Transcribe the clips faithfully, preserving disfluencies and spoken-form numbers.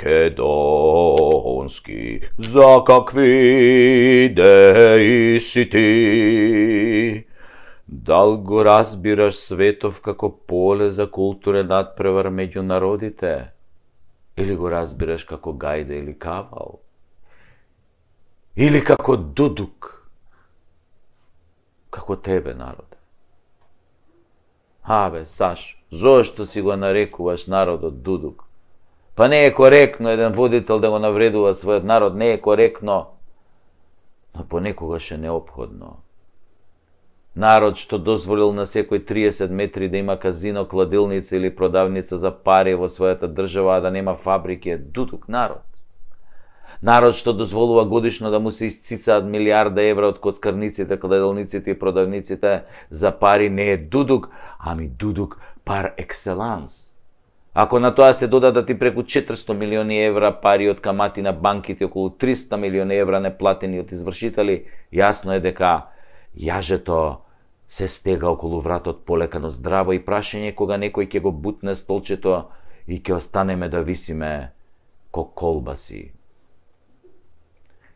македонски, за какви идеи си ти? Дал го разбираш светов како поле за културен надпревар меѓу народите? Или го разбираш како гајда или кавал? Или како дудук? Како тебе, народе? Абе, Сашо, зошто си го нарекуваш народот дудук? Па не е коректно еден водител да го навредува својот народ, не е коректно, но понекогаш е неопходно. Народ што дозволил на секој триесет метри да има казино, кладилница или продавница за пари во својата држава, а да нема фабрики, е дудук народ. Народ што дозволува годишно да му се исцицаат милиарда евра од коцкарниците, кладилниците и продавниците за пари, не е дудук, ами дудук пар екселанс. Ако на тоа се додадат и преку четиристо милиони евра пари од камати на банките, околу триста милиони евра неплатени од извршители, јасно е дека јажето се стега околу вратот полекано здраво и прашање кога некој ќе го бутне столчето и ќе останеме да висиме ко колбаси.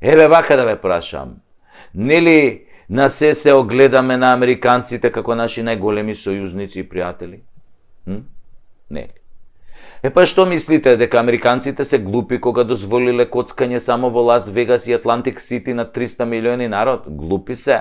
Еве вака да ве прашам, нели на се се огледаме на американците како наши најголеми сојузници и пријатели? Hm? Не. Е па што мислите, дека американците се глупи кога дозволиле коцкање само во Лас Вегас и Атлантик Сити на триста милиони народ? Глупи се.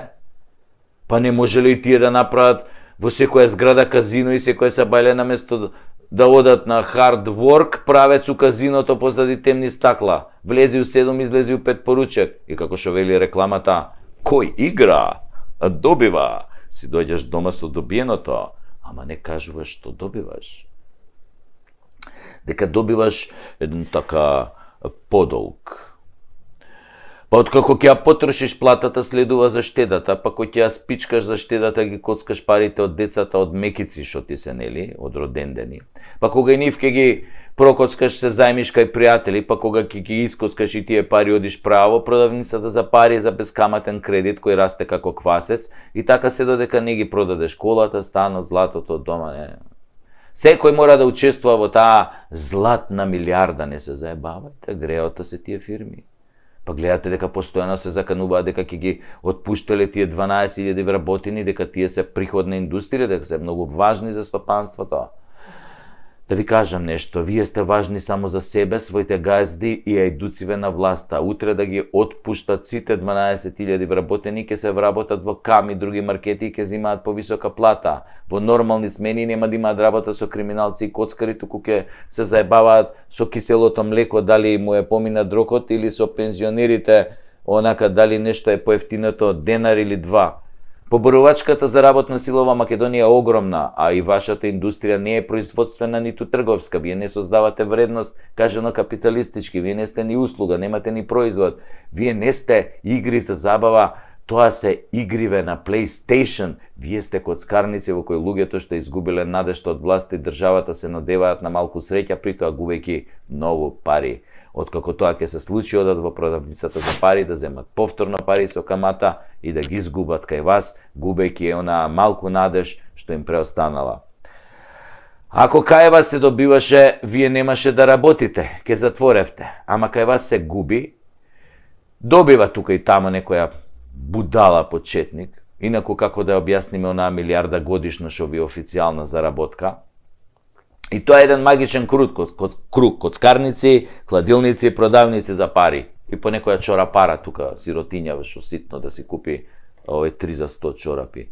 Па не може ли и тие да направат во секоја зграда казино и секоја сабајле наместо да одат на hard work, правец у казиното позади темни стакла. Влези у седум, излези у пет поручек. И како што вели рекламата, кој игра, а добива. Си дојдеш дома со добиеното, ама не кажуваш што добиваш. Дека добиваш еден така подолг. Па откако ќе ја потрошиш платата, следува за штедата, па кој ќе ја спичкаш за штедата, ги коцкаш парите од децата од мекици што ти се, нели, од родендени. Па кога и нив ќе ги прокоцкаш се зајмиш кај пријатели, па кога ќе ги искоцкаш и тие пари одиш право, продавницата за пари за бескаматен кредит кој расте како квасец, и така се додека не ги продадеш колата, станот, златото, дома, не. Секој мора да учествува во таа златна милиарда, не се заебавате, греота се тие фирми. Па гледате дека постојано се закануваат дека ќе ги отпуштале тие дванаесет илјади вработени, дека тие се приходна индустрија, дека се многу важни за стопанството. Да ви кажам нешто, вие сте важни само за себе, своите газди и ајдуциве на власта. Утре да ги отпуштат сите дванаесет илјади вработени, ќе се вработат во Кам и други маркети и ќе земаат повисока плата. Во нормални смени нема да имаат работа со криминалци и коцкари, туку ќе се заебаваат со киселото млеко, дали му е помина дрокот, или со пензионерите, онака дали нешто е поевтиното денар или два. Поборувачката за работна сила во Македонија е огромна, а и вашата индустрија не е производствена ниту трговска. Вие не создавате вредност, кажано капиталистички, вие не сте ни услуга, немате ни производ. Вие не сте игри за забава, тоа се игриве на PlayStation. Вие сте коцкарници во кои луѓето што изгубиле надежта од власта и државата се надеваат на малку среќа, притоа губејќи многу пари. Откако тоа ќе се случи, одат во продавницата за пари, да земат повторно пари со камата и да ги изгубат кај вас, губејќи она малку надеж што им преостанала. Ако кај вас се добиваше, вие немаше да работите, ќе затворевте. Ама кај вас се губи, добива тука и тамо некоја будала почетник, инаку како да објасниме онаа милиарда годишно што ви е официјална заработка. И тоа е еден магичен круг, круг, коцкарници, кладилници, продавници за пари. И по некоја чора пара тука, сиротиња, што ситно да си купи овој три за сто чорапи.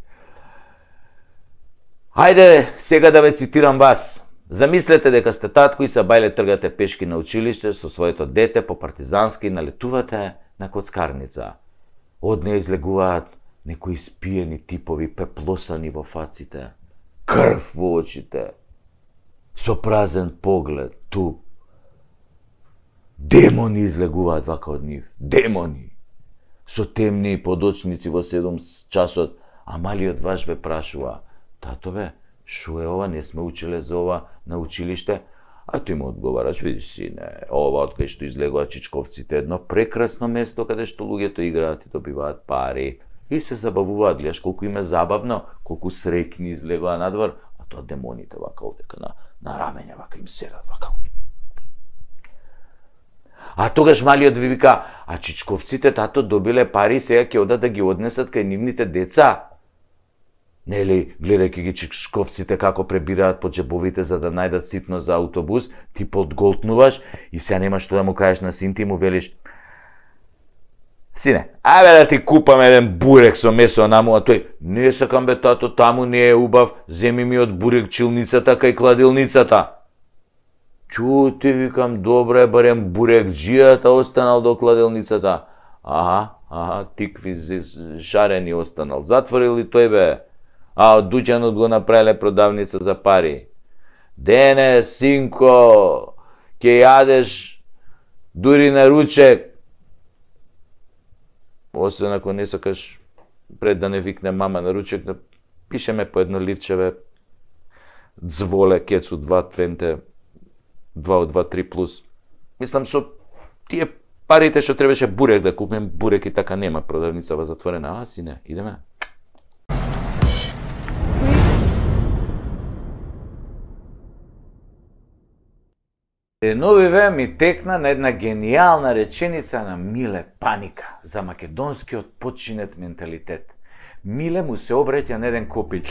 Хајде сега да ве цитирам вас. Замислете дека сте татко и сабајле тргате пешки на училиште со своето дете по партизански и налетувате на коцкарница. Од неја излегуваат некои спиени типови, пеплосани во фаците, крв во очите, со празен поглед, туп. Демони излегуваат вака од нив, демони, со темни подочници во седум часот, а малиот ваш ве прашува, татове, шо е ова, не сме учеле за ова на училиште? А ти му одговараш, видиш сине, ова од кај што излегуваат чичковците, едно прекрасно место каде што луѓето играат и добиваат пари и се забавуваат, гледаш колку им е забавно, колку среќни излегуваат надвор, а тоа демоните вака овдека на, на рамења, вака им седат, вака. А тогаш малиот ви вика, а чичковците тато добиле пари, сега ќе одат да ги однесат кај нивните деца. Нели, гледајќи ги чичковците како пребираат по джебовите за да најдат ситно за автобус, ти подголтнуваш и сега немаш што да му кажеш на син ти, му велиш: сине, ајде да ти купам еден бурек со месо наму, а тој: не сакам бе тато, таму не е убав, земи ми од бурекчилницата кај кладилницата. Чу, ти викам, добре, барем бурекџијата останал до кладилницата. Аха, аха, тикви шарени останал. Затворил ли тој бе? А од дуќанот го направиле продавница за пари. Дене, синко, ќе јадеш дури на ручек. Освен ако не сакаш пред да не викне мама на ручек, да пишеме по едно ливчеве дзволе, кецу два твенте, два од два три плюс. Мислам, со тие парите што требаше бурек да купим, бурек и така нема, продавницава затворена. А, сине, идеме. Деновиве ми текна на една гениална реченица на Миле Паника за македонскиот починет менталитет. Миле му се обраќа на еден копил: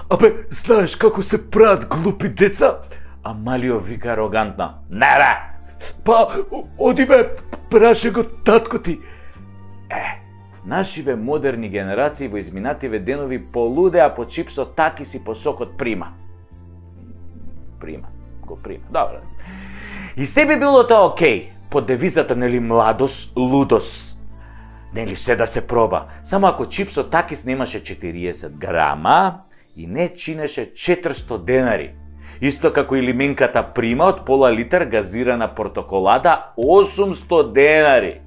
абе, знаеш како се прават глупи деца? А Малио вика арогантно: не бе! Па, оди бе, праше го татко ти. Е, нашиве модерни генерации во изминативе денови полудеа по чипсот такис и по сокот прима. Прима, го прима, добре. И се би било тоа окей, под девизата, нели, младост, лудост. Нели, се да се проба. Само ако чипсот такис немаше четириесет грама и не чинеше четиристо денари. Исто како и лиминката прима од пола литар газирана портоколада осумсто денари.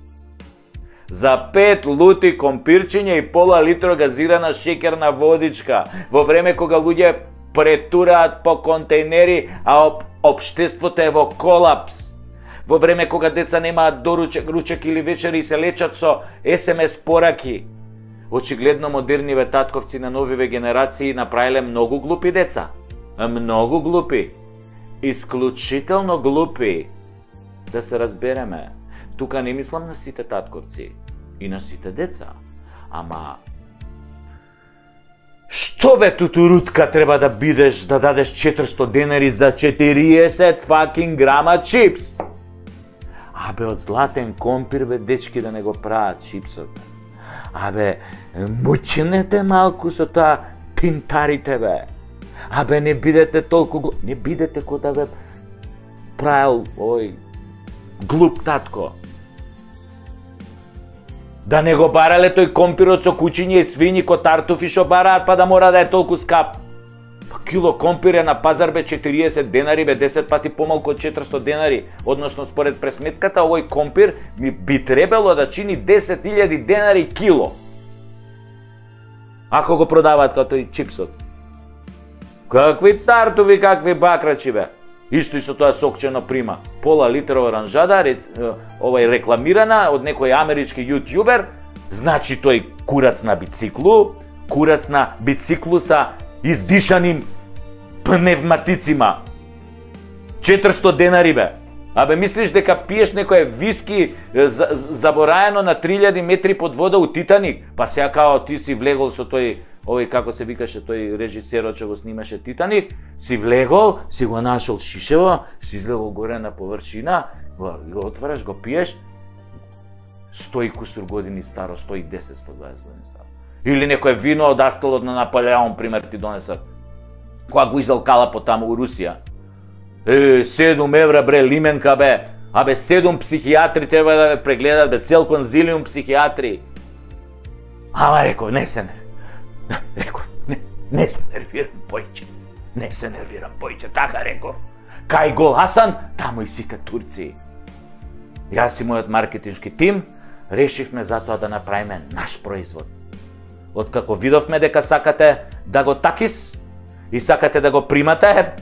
За пет лути компирчиња и пола литро газирана шеќерна водичка, во време кога луѓе претураат по контейнери, а об, општеството е во колапс. Во време кога деца немаат доручек, ручек или вечери и се лечат со ес ем ес пораки. Очигледно модерниве татковци на новиве генерации направиле многу глупи деца. Многу глупи. Исклучително глупи. Да се разбереме. Тука не мислам на сите татковци и на сите деца. Ама што бе тутурутка треба да бидеш да дадеш четиристо денари за четириесет факинг грама чипс? Абе, од златен компир бе, дечки, да не го прават чипсот. Абе, мучнете малку со тоа пинтарите бе. Абе, не бидете толку глуп, не бидете ко да бе правил ој глуп татко. Да не го барале тој компирот со кучиња и свињи ко тартуфи што бараат, па да мора да е толку скап. Па кило компир е на пазар бе четириесет денари, бе десет пати помалку од четиристо денари, односно според пресметката овој компир ми би требало да чини десет илјади денари кило. Ако го продаваат како тој чипсот. Какви тартуфи, какви бакрачи бе. Исто и со тоа сокчено прима. Пола литра оранжада, овај рекламирана од некој амерички јутјубер, значи тој курац на бициклу, курац на бициклу са издишаним пневматицима. четиристо денари бе. Абе, мислиш дека пиеш некој виски забораено на три илјади метри под вода у Титаник? Па сега као ти си влегол со тој, овој како се викаше тој режисерот што го снимаше Титаник, си влегол, си го нашол шишево, си излегол горе на површина, го отвараш, го пиеш, сто и кусур години старо, сто и десет, сто и дваесет години старо. Или некој вино од астолот на Наполеон, пример, ти донесат. Кога го изалкала по таму у Русија. Е, седум евра бре, лименка бе. Абе, седум психијатри треба да ве прегледат, бе, цел конзилиум психијатри. Ама реков, не се не. Реков, не, не се нервирам појче. Не се нервирам појче, така реков. Кај гол Хасан, таму и сите турци. Јас и мојот маркетиншки тим решивме затоа да направиме наш производ. Откако видовме дека сакате да го такис и сакате да го примате,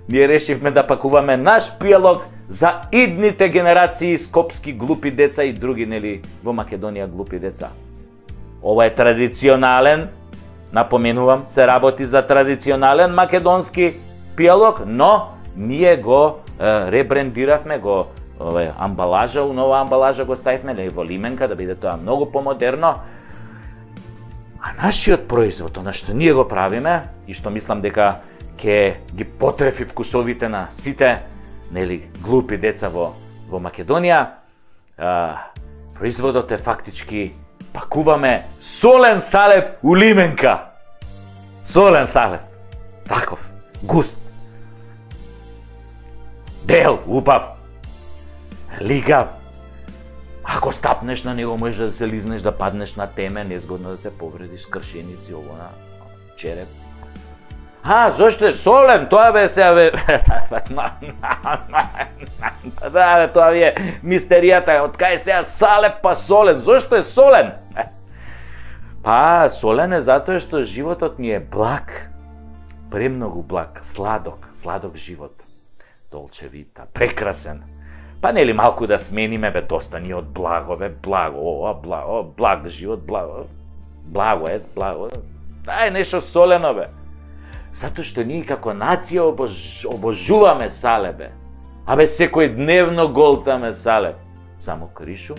ние решивме да пакуваме наш пијалок за идните генерации скопски глупи деца и други, нели, во Македонија глупи деца. Ова е традиционален, напоменувам, се работи за традиционален македонски пијалок, но ние го е, ребрендиравме, го ове амбалажа, у нова амбалажа го ставивме, и во лименка да биде тоа многу помодерно. А нашиот производ, она што ние го правиме и што мислам дека ќе ги потрефи вкусовите на сите, нели, глупи деца во во Македонија, а, производот е фактички пакуваме солен салеп у лименка. Солен салеп. Таков, густ. Бел, убав. Лигав. Ако стапнеш на него, можеш да се лизнеш, да паднеш на теме, незгодно да се повредиш, кршеници, ово на череп. А, зошто е солен? Тоа бе се бе. Да, бе, тоа ви е мистеријата. Од кај сега салеп па солен? Зошто е солен? Па, солен е затоа што животот ни е благ. Премногу благ, сладок, сладок живот. Долче вита, прекрасен. Па нели малку да смениме, бе, доста ни од благо, бе, благо, ова, благо, благ живот, благо. Благо е, благо. Дај нешто солено, бе. Затоа што ние како нација обож... обожуваме салеп, бе. Абе, секој дневно голтаме салеп. Само кришум,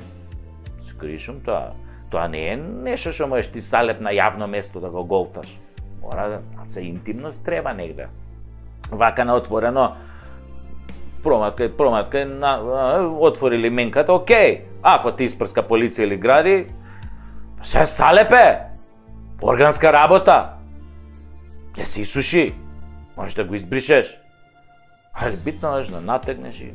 с кришум, тоа, тоа не е нешто што можеш ти салеп на јавно место да го голташ. Мора да се интимност треба негде. Вака на отворено, проматка, проматка, на, отвори лименката, окей. Ако ти испрска полиција или гради, се салепе, органска работа. Ќе се исуши, можеш да го избришеш. Али битно е да натегнеш и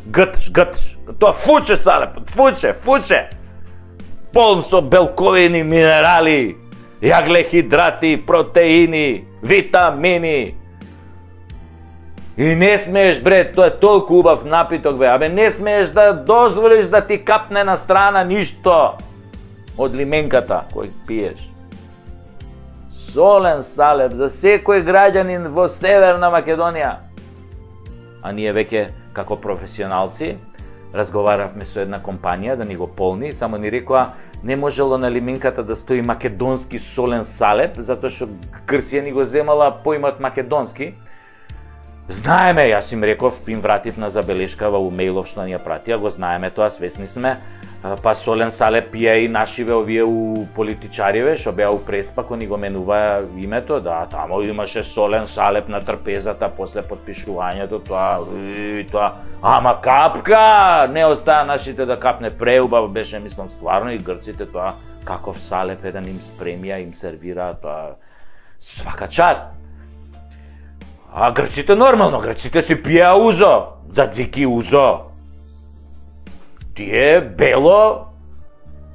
гъташ, гъташ. Тоа фуче салепот, фуче, фуче. Полн со белковини, минерали, јаглехидрати, протеини, витамини. И не смееш, бре, тоа е толку убав напиток, бе. Абе, не смееш да дозволиш да ти капне на страна ништо од лименката кој пиеш. Солен салеп за секој граѓанин во Северна Македонија. А ние веќе, како професионалци, разговаравме со една компанија да ни го полни, само ни рекоа не можело на лименката да стои македонски солен салеп, затоа што Грција ни го земала поимот македонски. Знаеме, јас им реков, им вратив на забелешка во мејлов што ни ја пратија, го знаеме тоа, свесни сме. Па солен салеп пие и нашиве овие у политичариве, што беа у Преспа, кој ни го менува името, да, тамо имаше солен салеп на трпезата после подпишувањето, тоа, и, тоа, ама капка, не остаа нашите да капне, преубав беше, мислам, стварно, и грците тоа, каков салеп е да им спремија, им сервира, тоа, свака част. А грците нормално, грците си пиеа узо, дзадзики узо. Тие бело,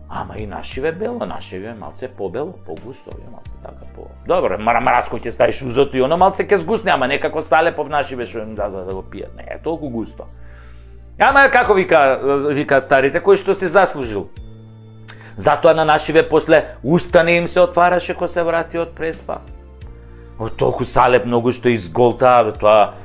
ама и нашиве бело, нашиве малце побело, по-густо, малце така по... Добро, марамараско ќе ставиш узото и оно малце ќе сгусне, ама некако салепов нашиве што им да, да, да го пијат, не е толку густо. Ама како вика, вика старите, кој што се заслужил. Затоа на нашиве после устане им се отвараше кога се врати од Преспа. О, толку салеп многу што изголта, тоа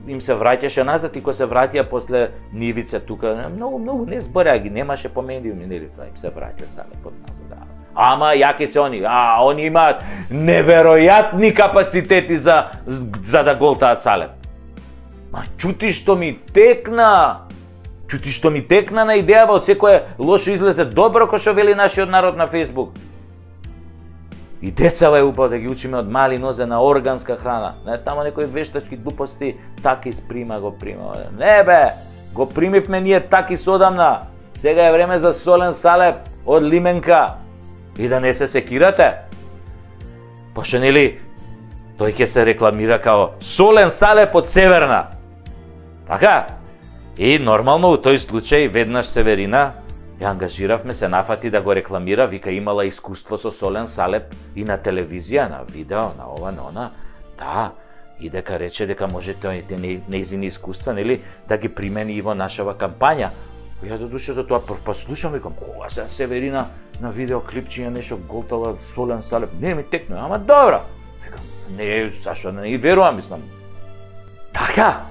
им се враќаше назад и кога се вратија после нивица тука, многу многу не збореа ги, немаше по медиуми, нели, тоа им се враќа салепот назад. Да. Ама јаки се они, а они имаат неверојатни капацитети за за да голтаат салеп. Ма чути што ми текна. Чути што ми текна на идеја од секое лошо излезе добро, кој што вели нашиот народ на Facebook. И децава е упав да ги учиме од мали нозе на органска храна. Не, тамо некои вештачки глупости, таки сприма го прима. Не бе, го примивме ние таки содамна. Сега е време за солен салеп од лименка. И да не се секирате. Пошто нели, тој ќе се рекламира као солен салеп од Северна. Така? И нормално у тој случај веднаш Северина ја ангажиравме, се нафати да го рекламира, вика имала искуство со солен салеп и на телевизија, на видео, на ова, на она. Да, и дека рече дека можете нејзини искуства, нели, да ги примени и во нашава кампања. Ја до душа за тоа прв па слушам, викам, кога се Северина на видео клипчиња нешто голтала солен салеп, не ми текне, ама добро. Викам, не, зашто не и верувам, мислам. Така.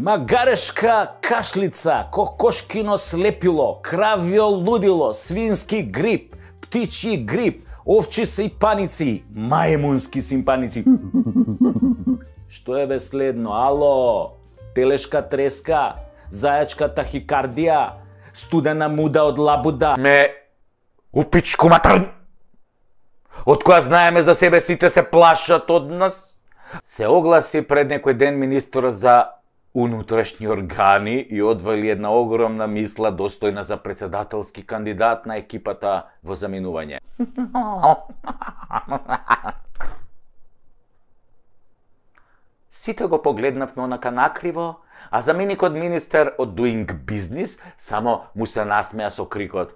Магарешка кашлица, кокошкино слепило, кравјо лудило, свински грип, птичји грип, овчи сипаници, мајмунски симпаници. Што е бе следно? Ало, телешка треска, зајачка тахикардија, студена муда од лабуда. Ме, упичку матар! Од која знаеме за себе сите се плашат од нас? Се огласи пред некој ден министерот за унутрашни органи и одвали една огромна мисла достојна за председателски кандидат на екипата во заминување. Сите го погледнавме онака накриво, а заменикот министер од Doing Business само му се насмеа со крикот: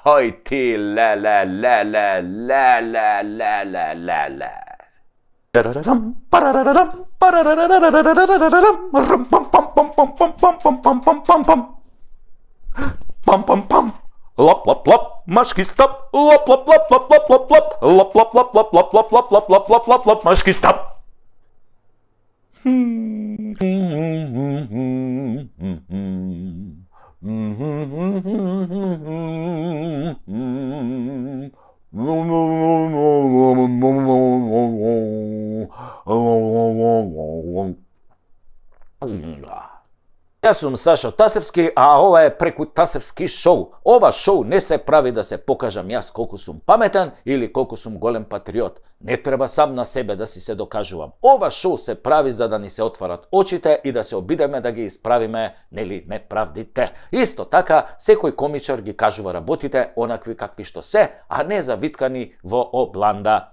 "Хој ти, ле, ле, ле, ле, ле, ле, ле, ле, ле, ле." Пам-пам-пам, лап-лап-лап, машки стап, лап-лап-лап-лап-лап-лап-лап, лап-лап-лап-лап-лап-лап-лап-лап-лап, машки стап. Јас сум Сашо Тасевски, а ова е Преку Тасевски шоу. Ова шоу не се прави да се покажам јас колку сум паметен или колку сум голем патриот. Не треба сам на себе да си се докажувам. Ова шоу се прави за да ни се отварат очите и да се обидеме да ги исправиме, нели, неправдите. Исто така, секој комичар ги кажува работите онакви какви што се, а не завиткани во обланда,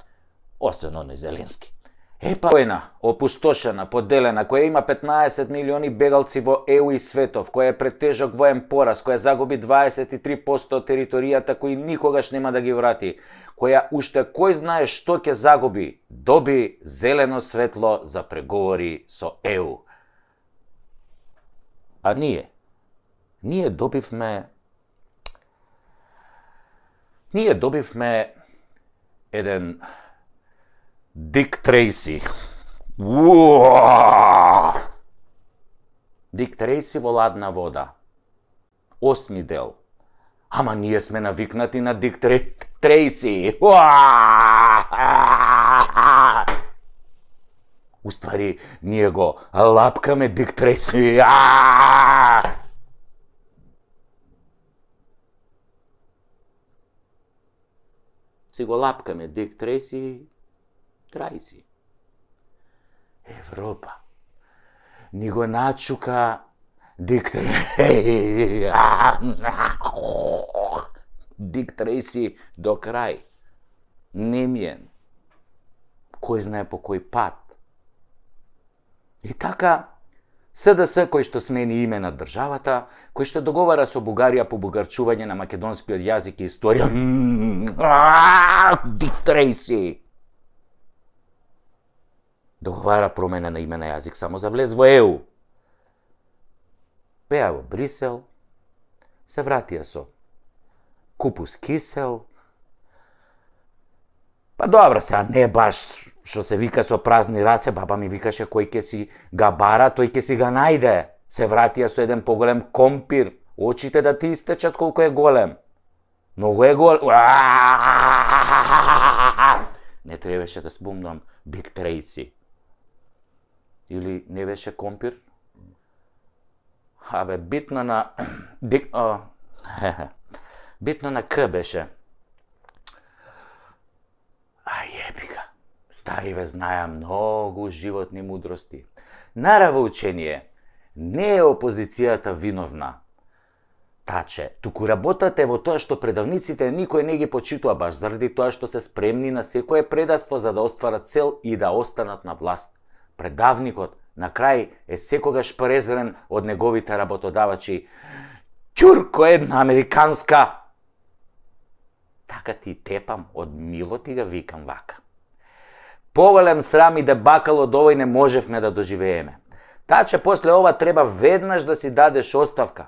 освен оној Зеленски. Епа, војна, опустошена, поделена, која има петнаесет милиони бегалци во Е У и светов, која е пред тежок воен пораз, која загуби дваесет и три посто од територијата кои никогаш нема да ги врати, која уште кој знае што ќе загуби, доби зелено светло за преговори со Е У. А ние? Ние добивме... Ние добивме еден... Дик Трейси. Дик Трейси во ладна вода. Осми дел. Ама ние сме навикнати на Дик Трейси. Уствари, ние го лапкаме Дик Трейси. Си го лапкаме Дик Трейси. Трајси. Европа. Ни го начука Дик Трейси. Дик Трейси до крај. Немиен. Кој знае по кој пат. И така, С Д С кој што смени име на државата, кој што договара со Бугарија по бугарчување на македонскиот јазик и историја. Дик Трейси. Договара промена на име на јазик само за влез во Е У. Беа во Брисел, се вратија со купус кисел. Па добра, сега не баш што се вика со празни раце, баба ми викаше кој ќе си га бара, тој ќе си га најде. Се вратија со еден поголем компир, очите да ти истечат колку е голем. Многу е голем. Не требаше да спомнам Дик Трейси. Или не беше компир? Абе, битно на... Дик... О... Битно на К беше. А јебика. Стариве знаја многу животни мудрости. Нараво учение, не е опозицијата виновна. Таче, туку работата е во тоа што предавниците никој не ги почитува баш заради тоа што се спремни на секое предаство за да остварат цел и да останат на власт. Предавникот на крај е секогаш презрен од неговите работодавачи. Ќурко една американска! Така ти тепам, од мило ти га викам вака. Поголем срам и дебакал од овој не можевме да доживееме. Таче, после ова треба веднаш да си дадеш оставка.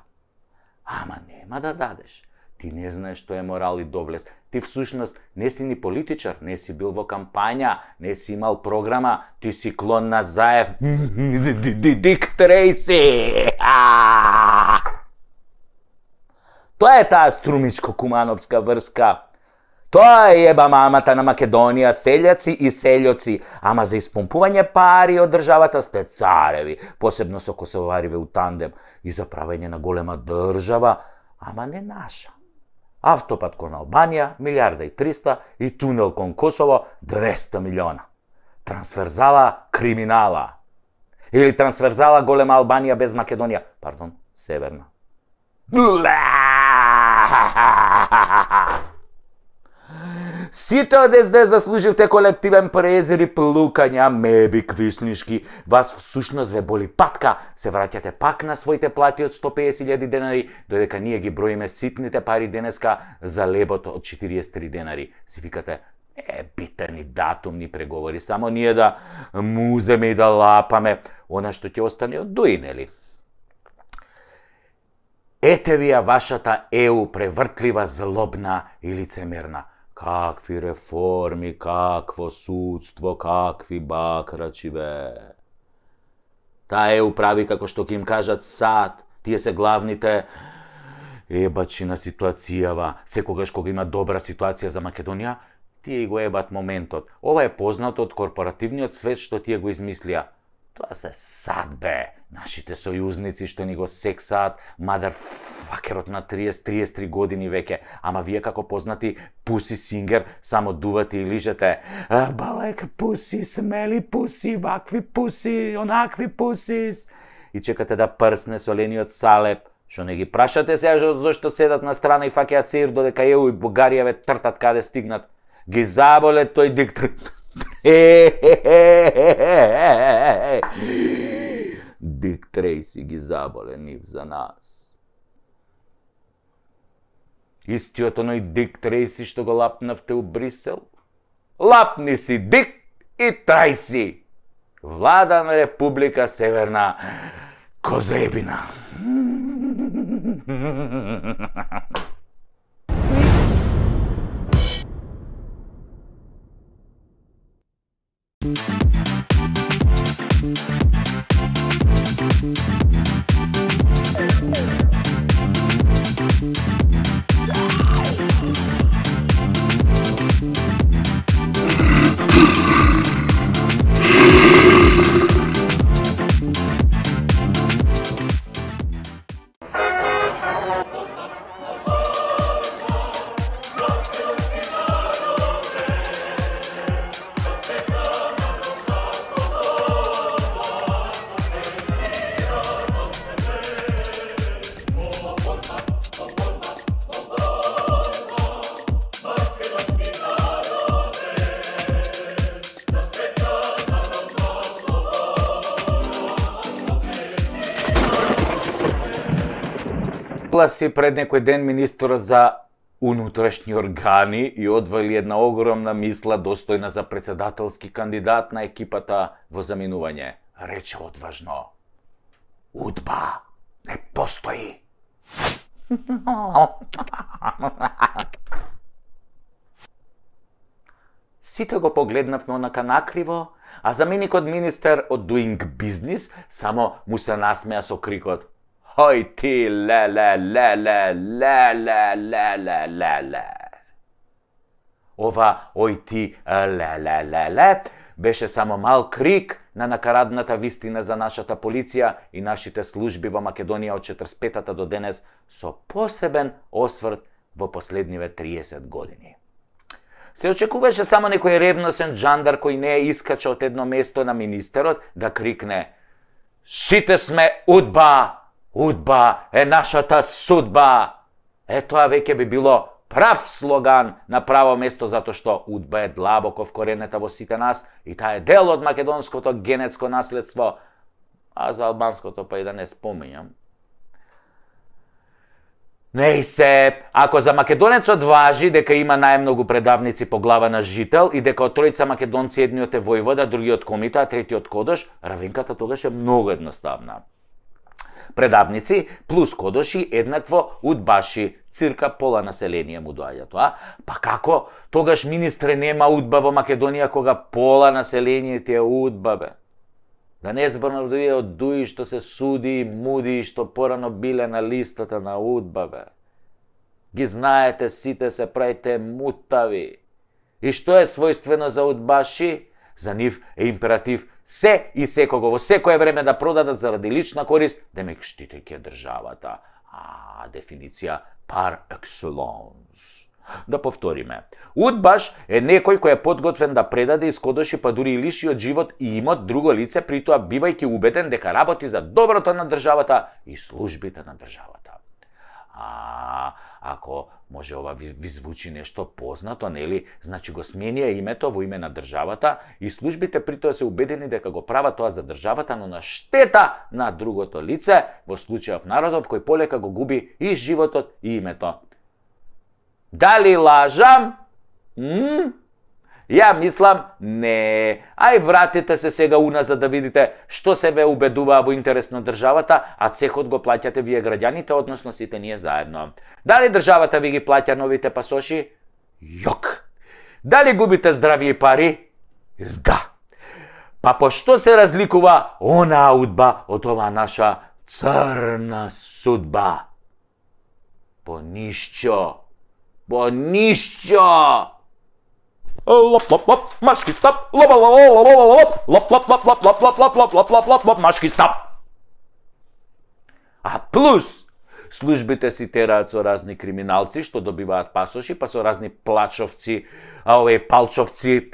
Ама нема да дадеш. Ти не знаеш што е морал и доблест. Ти всушност не си ни политичар, не си бил во кампања, не си имал програма, ти си клон на Заев. Дик Трейси! Тоа е таа струмичко-кумановска врска. Тоа е еба мамата на Македонија, селјаци и селјоци, ама за испомпување пари од државата сте цареви, посебно со косовариве у тандем, и за правење на голема држава, ама не наша. Автопат кон Албанија, милиарда и триста, и тунел кон Косово, двеста милиона. Трансферзала криминала. Или трансферзала голема Албанија без Македонија, пардон, северна. Сите од ес де заслуживте колективен презир и плукања, меби квиснишки. Вас всушност ве боли патка, се враќате пак на своите плати од сто песет илјади денари, додека ние ги броиме ситните пари денеска за лебото од четириесет и три денари. Си викате, е, битни датумни преговори, само ние да муземе и да лапаме, она што ќе остане од дуи, нели? Ете ви ја вашата Е У превртлива, злобна и лицемерна. Какви реформи, какво судство, какви бакрачи, бе. Таа Е У прави како што ќе им кажат сад. Тие се главните ебачи на ситуацијава. Секогаш кога има добра ситуација за Македонија, тие го ебат моментот. Ова е познато од корпоративниот свет што тие го измислија. Тоа се сад, бе. Нашите сојузници што ни го сексаат, мадарфакерот на триесет до триесет и три години веќе. Ама вие како познати пуси сингер, само дувате и лижете. Балек пуси, смели пуси, вакви пуси, онакви пусис. И чекате да прсне солениот салеп. Што не ги прашате сега зашто седат на страна и фаќаат сир додека Е У и Бугарија ве тртат каде стигнат. Ги заболе тој диктор. Дик Трейси ги заболе нив за нас. Истиот оној Дик Трейси што го лапнавте у Брисел? Лапни си Дик и Трейси! Влада на Република Северна Козебина. Си пред некој ден министерот за унутрашни органи и одвали една огромна мисла достојна за председателски кандидат на екипата во заминување. Рече одважно: УДБА не постои. Сите го погледнавме онака накриво, а заменикот министер од Doing Business само му се насмеа со крикот: Хој ти, леле, леле, леле, леле, леле. Ова ој ти, леле, леле, беше само мал крик на накарадната вистина за нашата полиција и нашите служби во Македонија од четиридесет и петата до денес со посебен осврт во последниве триесет години. Се очекуваше само некој ревносен джандар кој не искача од едно место на министерот да крикне: Сите сме УДБА! УДБА е нашата судба! Е, тоа веќе би било прав слоган на право место, затоа што УДБА е длабоко вкоренета во сите нас и таа е дел од македонското генетско наследство, а за албанското па и да не спомењам. Не се, ако за македонецот важи дека има најмногу предавници по глава на жител и дека од тројца македонци едниот е војвода, другиот комита, а третиот кодош, равенката тогаш е многу едноставна. предавници, плюс кодоши, еднакво удбаши. Цирка пола население му доаѓа тоа. Па како тогаш, министре, нема удба во Македонија кога пола население ти е удба, бе? Да не зборуваме од дуи што се суди и муди, што порано биле на листата на удба, бе. Ги знаете, сите се правите мутави. И што е својствено за удбаши? За нив е императив се и секого во секое време да продадат заради лична корист, демек штитејќи државата. А, дефиниција par excellence. Да повториме. Удбаш е некој кој е подготвен да предаде, искодоши, па дури и лиши од живот и имот друго лице, при тоа бивајќи убеден дека работи за доброто на државата и службите на државата. А, ако може ова ви, ви звучи нешто познато, нели? Значи го сменија името во име на државата и службите при тоа се убедени дека го прават тоа за државата, но на штета на другото лице, во случајов народов кој полека го губи и животот и името. Дали лажам? М? Ја мислам, не. Ај вратите се сега уназад да видите што се ве убедуваа во интерес на државата, а цехот го плаќате вие граѓаните, односно сите ние заедно. Дали државата ви ги плаќа новите пасоши? Јок. Дали губите здравје и пари? Да. Па по што се разликува онаа удба од оваа наша црна судба? По ништо. По ништо. Лоп лоп лоп, машки стап, лоп лоп лоп лоп лоп лоп лоп лоп лоп лоп лоп лоп лоп лоп лоп лоп машки стап. А плюс службите си тераат со разни криминалци што добиваат пасоши, па со разни плачовци, а овие палчовци,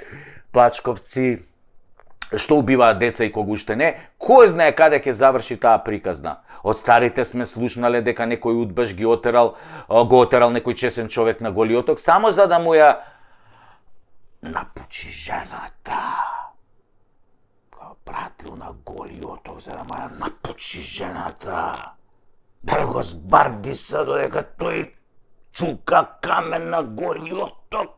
плачковци што убиваат деца и кога уште не, кој знае каде ќе заврши таа приказна. Од старите сме слушнале дека некој удбаш ги отерал, го отерал некој чесен човек на Голиоток само за да му ја напучи жената. Го пратил на Голиоток за да му ја напучи жената. Да го збарди се додека тој чука камен на Голиоток.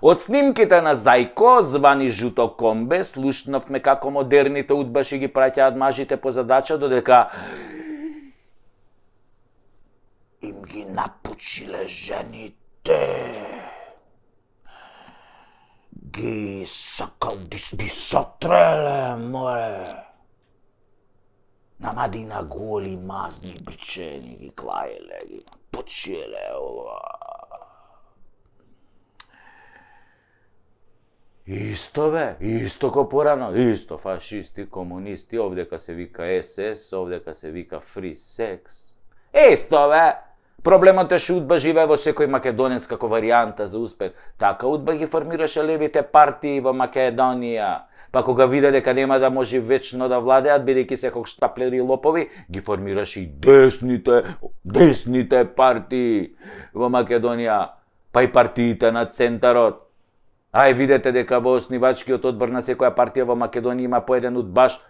Од снимките на Зајко, звани Жуто Комбе, слушнавме како модерните удбаши ги праќаат мажите по задача, додека им ги напучиле жените. Ги сакал ги сотреле, море. Намади на голи мазни бричени ги клаеле, ги напучиле. Исто бе, исто ко порано, исто фашисти, комунисти, овдека се вика ес ес, овдека се вика фри секс. Исто бе, проблемот е што удба живее во секој македонец како варијанта за успех. Така удба ги формираше левите партии во Македонија. Па кога виде дека нема да може вечно да владеат, бидејќи се како штаплери и лопови, ги формираше и десните, десните партии во Македонија, па и партиите на центарот. Ај видете дека во основачкиот одбор на секоја партија во Македонија има по еден удбаш,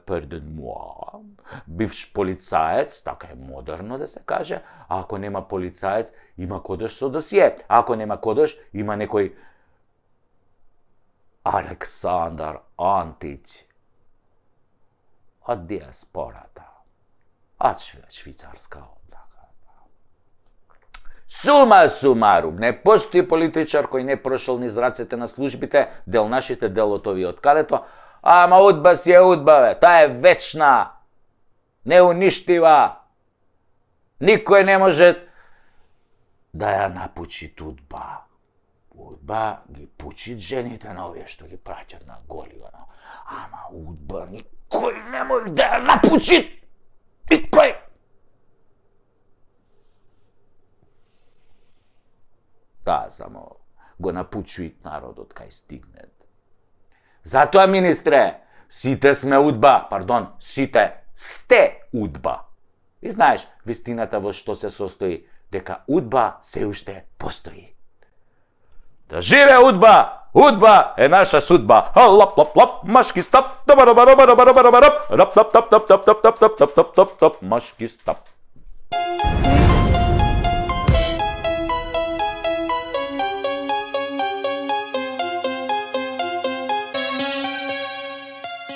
перден муа, бивш полицаец, така е модерно да се каже, а ако нема полицаец, има кодош со досие, а ако нема кодош, има некој Александар Антич од диаспората, од швицарска одбора. Сума сумарум, не постои политичар кој не прошол низ рацете на службите, дел нашите, дел од овие од калето, ама удба си е удба, бе, таа е вечна, неуништива. Никој не може да ја напучи удба. Удба ги пучит жените на овие што ги праќат на Голиона. Ама удба никој не може да ја напучи. Никој. Таа само го напучуит народот кај стигнет. Затоа, министре, сите сме удба, пардон, сите сте удба. И знаеш, вистината во што се состои, дека удба се уште постои. Да живе удба! Удба е наша судба. Лап лап лап, машки стап, доба доба доба доба доба доба доба, рап тап тап тап тап тап тап тап тап тап тап тап, машки стап.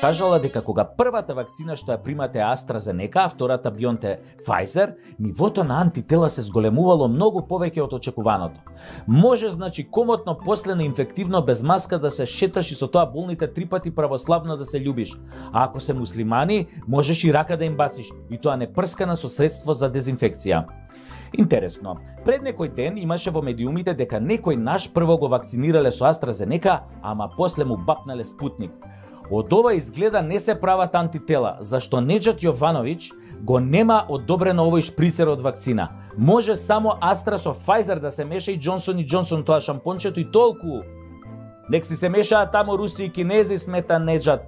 кажала дека кога првата вакцина што ја примате AstraZeneca, а втората BioNTech Pfizer, нивото на антитела се зголемувало многу повеќе од очекуваното. Може, значи, комотно после на инфективно без маска да се шеташ и со тоа болните три пати православно да се љубиш. А ако се муслимани, можеш и рака да им бациш, и тоа не прскана со средство за дезинфекција. Интересно, пред некој ден имаше во медиумите дека некој наш прво го вакцинирале со AstraZeneca, ама после му бапнале Спутник. Од ова изгледа не се прават антитела, зашто Неџат Јовановиќ го нема одобрено овој шприцер од вакцина. Може само Астра со Pfizer да се меша и Джонсон и Джонсон тоа шампончето и толку. Нек си се мешаат тамо руси и кинези, смета Неџат.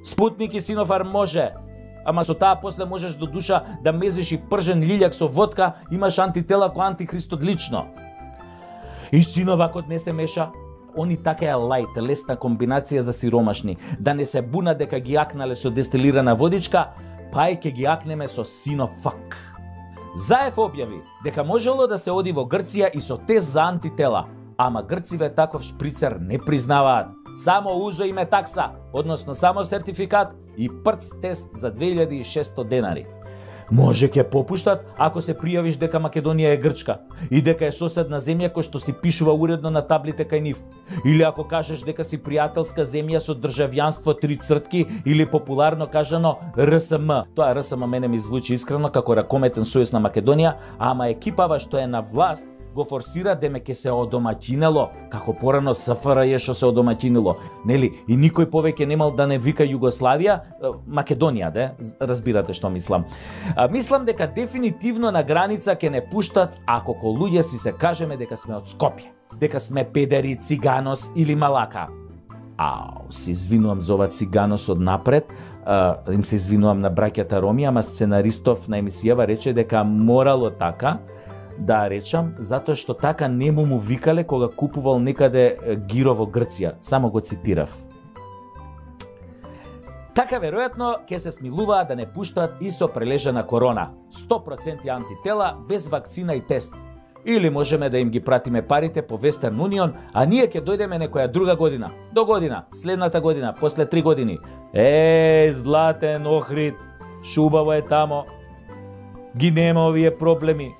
Спутник и Синофарм може, ама со таа после можеш до душа да мезиш и пржен лилјак со водка, имаш антитела ко антихристот лично. И Синовакот не се меша. Они така е лајт, лесна комбинација за сиромашни, да не се буна дека ги акнале со дестилирана водичка, па и ке ги акнеме со Синофак. Заев објави дека можело да се оди во Грција и со тест за антитела, ама грциве таков шприцер не признаваат. Само узо име такса, односно само сертификат и прц тест за две илјади и шесто денари. Може ќе попуштат ако се пријавиш дека Македонија е Грчка и дека е соседна земја кој што си пишува уредно на таблите кај нив. Или ако кажеш дека си пријателска земја со државјанство три цртки или популарно кажано Р С М. Тоа Р С М мене ми звучи искрено како ракометен сојуз на Македонија, ама екипава што е на власт го форсира деме ке се одомаќинело, како порано С Ф Р Ј што се одомаќинило, нели? И никој повеќе немал да не вика Југославија, Македонија, де? Разбирате што мислам. А, мислам дека дефинитивно на граница ќе не пуштат ако ко луѓе си се кажеме дека сме од Скопје, дека сме педери, циганос или малака. Ау, се извинувам за ова циганос од напред, а, им се извинувам на браќата Роми, ама сценаристов на емисијава рече дека морало така, да речам, затоа што така нему му викале кога купувал некаде гиро во Грција. Само го цитирав. Така веројатно ќе се смилуваа да не пуштат и со прележана корона. сто проценти антитела без вакцина и тест. Или можеме да им ги пратиме парите по Western Union, а ние ќе дојдеме некоја друга година, до година, следната година, после три години. Е, златен Охрид, шубаво е тамо. Ги нема овие проблеми.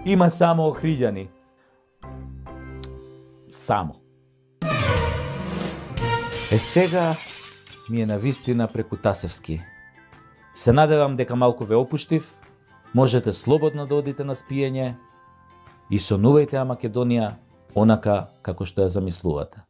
Има само охриѓани. Само. Е сега ми е навистина преку Тасевски. Се надевам дека малку ве опуштив, можете слободно да одите на спиење и сонувајте ја Македонија онака како што ја замислувате.